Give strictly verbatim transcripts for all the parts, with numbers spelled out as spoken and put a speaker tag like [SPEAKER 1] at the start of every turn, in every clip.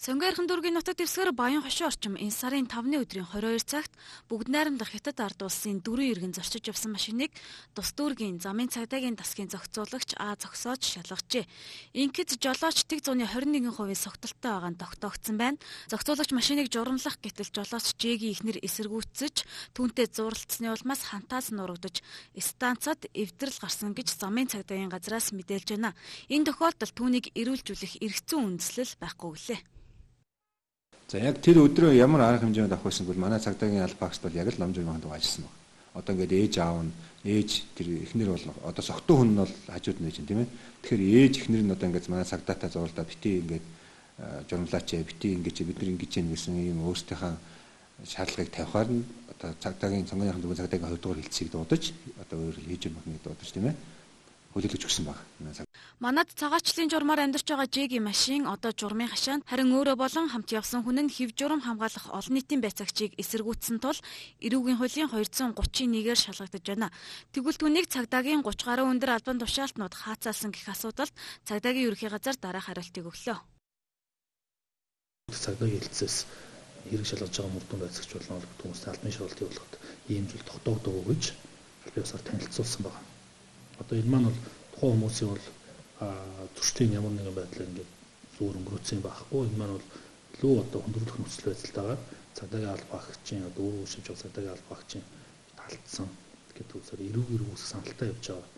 [SPEAKER 1] Сонгойрхон дүүргийн нутаг дэвсгэр Баян хошин орчим энэ сарын тавны өдрийн хорин хоёр цагт бүгд найрамдах Хятад ард улсын дөрвөн иргэн зорчиж явсан машиныг тус дүүргийн замын цагдаагийн дасгийн зохицуулагч А зогсоож шалгажээ. Ингээд жолооч тэг зууны хорин нэгэн хувийн согтолтой байгаа нь тогтоогдсон байна. Зохицуулагч машиныг журамлах гэтэл жолооч Жэгийн ихнэр эсэргүүцэж түүнтэй зууралцсны улмаас хантаас нурагдж станцад эвдрэл гарсан гэж замын цагдаагийн газраас мэдээлж байна. Энэ тохиолдолд түүнийг эрүүлжүүлэх эргэцэн үндэслэл байхгүй гэлээ.
[SPEAKER 2] За яг тэр өдрөө ямар арга хэмжээнд авах байсан бол манай цагдаагийн аль багш бол яг л ном журманд ажилласан байна. Одоо ингээд ээж аав нь ээж тэр эхнэр бол одоо согтуу хүн нь бол хажууд нь ээж юм тийм ээ. Тэгэхээр ээж эхнэр нь одоо ингээд манай цагдаатай зурлаа битгий ингээд журмлаач битгий ингээд бид нар ингэж яах гэсэн ийм өөрсдийнхээ шаардлагыг тавихаар нь одоо цагдаагийн сонгоны дөрвөн цагдаагийн хоёр дахь хилцгийг дуудаж одоо өөр хийж юм байна дуудаж тийм ээ. Хүлээлгэж өгсөн баг.
[SPEAKER 1] Манад цагаачлалын журмаар амьдарч байгаа Жэгийн машин одоо журмын хашаанд харин өөрөө болон хамт явсан хүн нь хэв журам хамгаалах олон нийтийн байцаагчийг эсэргүүцсэн тул эрүүгийн хуулийн двадцать нэгээр шалгагдаж байна. Тэгвэл түүнийг цагдаагийн гуравч гаруй өндөр албан тушаалтнууд хаацаалсан гэх асуудалд цагдаагийн ерөнхий газар дараах хариултыг өглөө.
[SPEAKER 3] Цагдаагийн хэлцээс хэрэг шалгаж байгаа мөрдөн байцаагч болон хүмүүстэй албан шалгалтыг болгоход ийм зүйл тогтоогдоогүй гэж албан ёсоор танилцуулсан байна. Одоо энэ маань бол тухайн хүмүүсийн бол зөрчлийн ямар нэгэн байдлаар ингээд зүүр өнгөрөөцсөн байхгүй. Энэ маань бол илүү одоо хүндрэлх нөхцөл байдалтайгаар цагдаагийн алба багчийн одоо өөр шивж байгаа цагдаагийн алба багчийн талдсан гэдэг үгээр эрүүг эрүүг саналтай явж байгаа.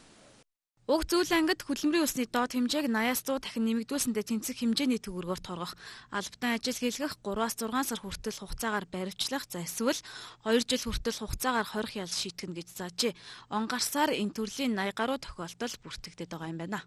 [SPEAKER 1] Уг зүйл ангид хөдөлмөрийн усны доод хэмжээг наяас зуун дахин нэмэгдүүлсэндээ тэнцэх хэмжээний төгрөгөөр торгох, албатай ажил хийлгэх гураваас зургаан сар хүртэл хугацаагаар баривчлах, за эсвэл хоёр жил хүртэл хугацаагаар хорих ял шийтгэн гэж заажээ. Он гарсаар энэ төрлийн наяа гаруй тохиолдол бүртгэгдээд байгаа юм байна.